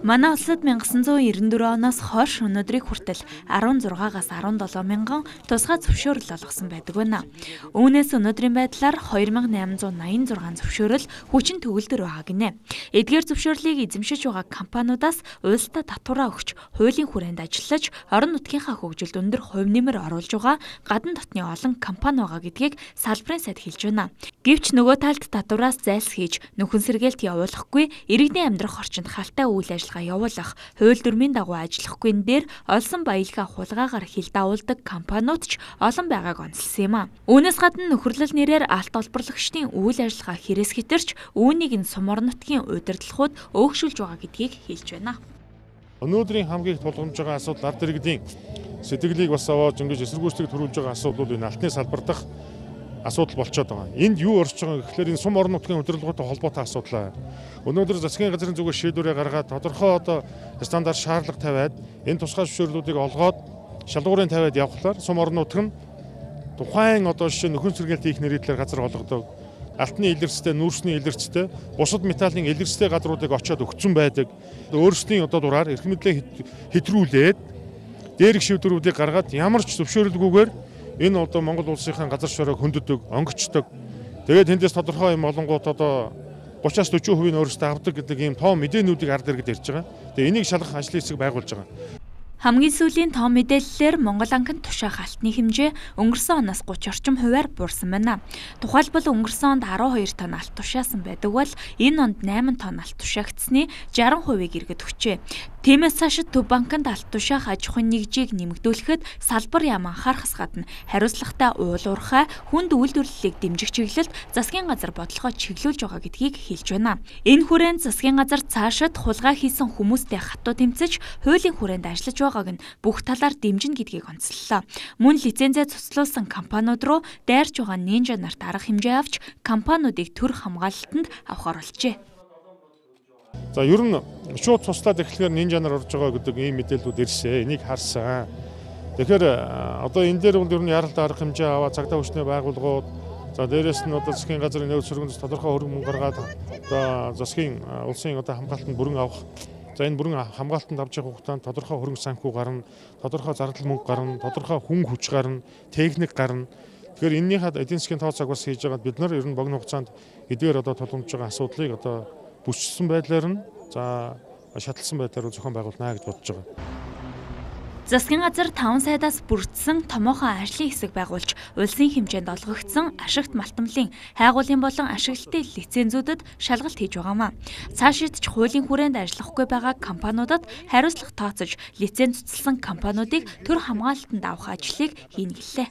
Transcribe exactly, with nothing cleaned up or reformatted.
Манай улсад 천ix девятьсот девяносто четыре оноос хойш өнөөдрийг хүртэл арван зургаагаас арван долоо мянган тусгай зөвшөөрөл олгосон байдаг байна. Үүнээс өнөөдрийн байдлаар хоёр мянган найманзуут наян зургаан зөвшөөрөл хүчин төгөлдөр байгаа гинэ. Эдгээр зөвшөөрлийг эзэмшиж байгаа компаниудаас уйлстай татвараа өгч, хуулийн хүрээнд ажиллаж, орон нутгийнхаа хөгжилд өндөр хувь нэмэр оруулж байгаа гадна дотны олон компани байгаа гэдгийг салбарын сайд хэлж байна. Гэвч нөгөө талд татвараас зайлс хийж, нөхөн сэргээлт явуулахгүй, иргэдийн амьдрах орчинд халтай үйл ажиллагаа явуулах, хууль дүрмийн дагуу ажиллахгүй энэ дээр олсон баялгаа хулгаагаар хил давуулдаг компаниуд ч олон байгааг онцлсан юм а. Үүнээс гадна нөхөрлөл нэрээр алт олборлагчдын үйл ажиллагаа хэрэгс хэтэрч, үүнийг нь сум орон нутгийн удирдлагууд өөгшүүлж байгаа гэдгийг хэлж байна. Өнөөдрийн хамгийн их тулгамж байгаа асуудал ард иргэдийн сэтгэлийг бас аваад ингэж эсэргүүцлийг төрүүлж байгаа асуудал энэ алтны салбар дахь асуудал болчиход байгаа. Энд юу орж байгаа гэхээр энэ сум орон нутгийн удирдлагуудтай холбоотой асуудал. Өнөөдөр засгийн газрын зүгээс шийдвэрээ гаргаад тодорхой одоо стандарт шаардлага тавиад энэ тусгай зөвшөөрлүүдийг олгоод шалгуурын тавиад явхлаар сум орон нутг нь тухайн одоо жишээ нөхөн сэргээлт хийх нэрийдлэр газар олгодог, алтны илэрцтэй, нүүрсний илэрцтэй, бусад металлын илэрцтэй газруудыг очиод өгцөн байдаг. Өөрсдийн одоо дураар эрх мэдлээ хэтрүүлээд дээрх шийдвэрүүдийг гаргаад ямар ч зөвшөөрлгүйгээр энэ одоо Монгол улсынхаа газар шороог хөнддөг, онгочдог. Тэгээд тэндээс тодорхой юм олонгууд одоо гуравчаас дөрвөн хувийн өөрсдөө авдаг гэдэг ийм тоо мэдээнүүдийг ард иргэд ярьж байгаа. Тэгээд энийг шалгах ажлын хэсэг байгуулж байгаа. Хамгийн сүүлийн тоо мэдээллээр Монгол анхны тушаах алтны хэмжээ өнгөрсөн оноос гуравч орчим хувиар буурсан байна. Тухайлбал өнгөрсөн онд арван хоёр тонн алт тушаасан байдаг бол энэ онд найман тонн алт тушаагдсны шаран хувийг иргэд өгчээ. Тиймээс цаашид Төв банкнд алт тушаах аж ахуйн нэгжийг нэмэгдүүлэхэд салбар яам анхаарахаас гадна хариуцлагатай уул уурхай хүнд үйлдвэрлэлийг дэмжих чиглэлд засгийн газар бодлогоо чиглүүлж байгаа гэдгийг хэлж байна. Энэ хүрээнд засгийн газар цаашид хулгай хийсэн хүмүүстэй хатуу тэмцэж хуулийн хүрээнд ажиллаж байгааг нь бүх талаар дэмжинэ гэдгийг онцллоо. Мөн лицензээ цуцлуулсан компаниуд руу дайрч байгаа нинжа нарт арга хэмжээ авч компаниудыг төр хамгаалалтанд авахар болжээ. За ер нь шууд туслаад эхлэхээр нинжа нар орж байгаа гэдэг ийм мэдээлэлүүд ирсэн. Энийг харсан. Тэгэхээр одоо энэ дээр бол ер нь яралтай арга хэмжээ аваад цагдаа хүчний байгууллагууд, за дээрэс нь одоо засгийн газрын нөөц сөргөнс тодорхой хөрөнгө гаргаад одоо засгийн улсын одоо хамгаалтанд бүрэн авах. За энэ бүрэн хамгаалтанд авч явах хугацаанд тодорхой хөрөнгө санхүү гарна, тодорхой зардал мөнгө гарна, тодорхой хүн хүч гарна, техник гарна. Тэгэхээр энэнийхээ эдийн засгийн тооцоог бас хийж байгаа бид нар ер нь богино хугацаанд эдгээр одоо тулгамдж байгаа асуудлыг одоо бүсчсэн байдлаар нь за шаталсан байдлаар зохион байгуулнаа гэж бодож байгаа. Засгийн газар таван сайдаас бүрдсэн томоохон ажлын хэсэг байгуулж, улсын хэмжээнд олгогдсон ашигт малтамлын хайгуулын болон ашиглалтын лицензүүдэд шалгалт хийж байгаамаа. Цаашид ч хуулийн хүрээнд ажиллахгүй байгаа компаниудад хариуцлага тооцож, лиценз цуцласан компаниудыг төр хамгаалалтанд авах ажлыг хийнэ гэлээ.